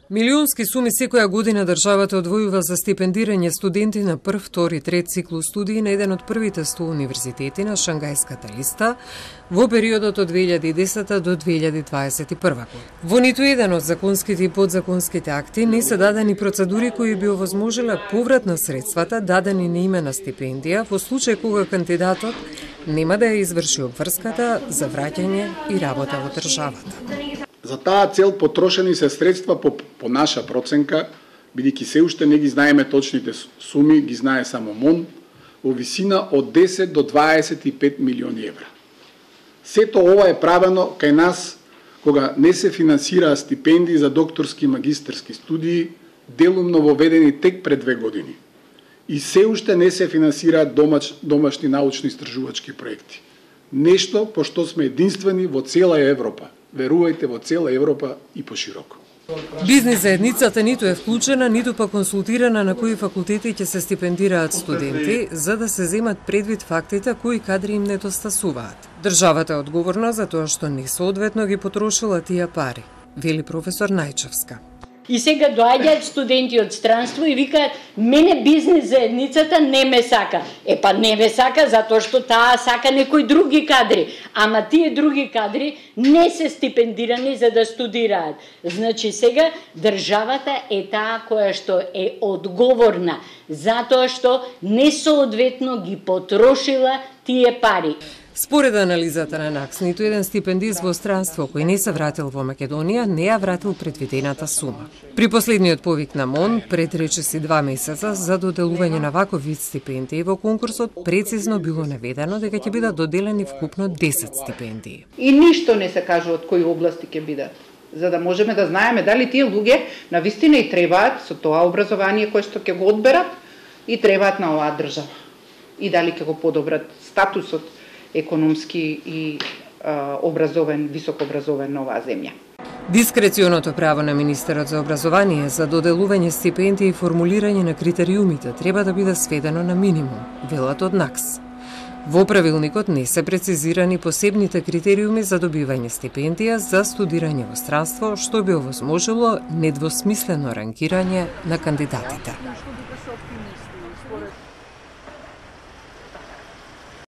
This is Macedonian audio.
Милионски суми секоја година државата одвојува за стипендирање студенти на прв, втори, трет циклус студии на еден од првите 100 универзитети на Шангајската листа во периодот од 2010 до 2021 година. Во ниту еден од законските и подзаконските акти не се дадени процедури кои би овозможиле поврат на средствата дадени на име на стипендија во случај кога кандидатот нема да ја изврши обврската за враќање и работа во државата. За таа цел потрошени се средства по наша проценка, бидејќи се уште не ги знаеме точните суми, ги знае само МОН, во висина од 10 до 25 милиони евра. Сето ова е правено кај нас кога не се финансираа стипендии за докторски и магистерски студии, делумно воведени тек пред 2 години. И се уште не се финансираат домашни научно-истражувачки проекти. Нешто по што сме единствени во цела Европа. Верувајте, во цела Европа и пошироко. Бизнис заедницата ниту е вклучена, ниту па консултирана на кои факултети ќе се стипендираат студенти, за да се земат предвид фактите кои кадри им недостасуваат. Државата е одговорна за тоа што несоодветно ги потрошила тие пари, вели професор Најчевска. И сега доаѓаат студенти од странство и викаат, мене бизнис заедницата не ме сака. Па не ме сака затоа што таа сака некои други кадри. Ама тие други кадри не се стипендирани за да студираат. Значи сега државата е таа која што е одговорна затоа што несоодветно ги потрошила тие пари. Според анализата на НАКС, ниту еден стипендист во странство кој не се вратил во Македонија не ја вратил предвидената сума. При последниот повик на МОН, пред речиси 2 месеца за доделување на ваков вид стипендии во конкурсот, прецизно било наведено дека ќе бидат доделени вкупно 10 стипендии. И ништо не се кажува од кои области ќе бидат, за да можеме да знаеме дали тие луѓе навистина и требаат со тоа образование кое што ќе го одберат и требаат на оваа држава. И дали ќе го подобрат статусот економски и високообразовен на оваа земја. Дискреционото право на министерот за образование за доделување стипендии и формулирање на критериумите треба да биде сведено на минимум, велат од НАКС. Во правилникот не се прецизирани посебните критериуми за добивање стипендија за студирање во странство, што би овозможило недвосмислено ранкирање на кандидатите.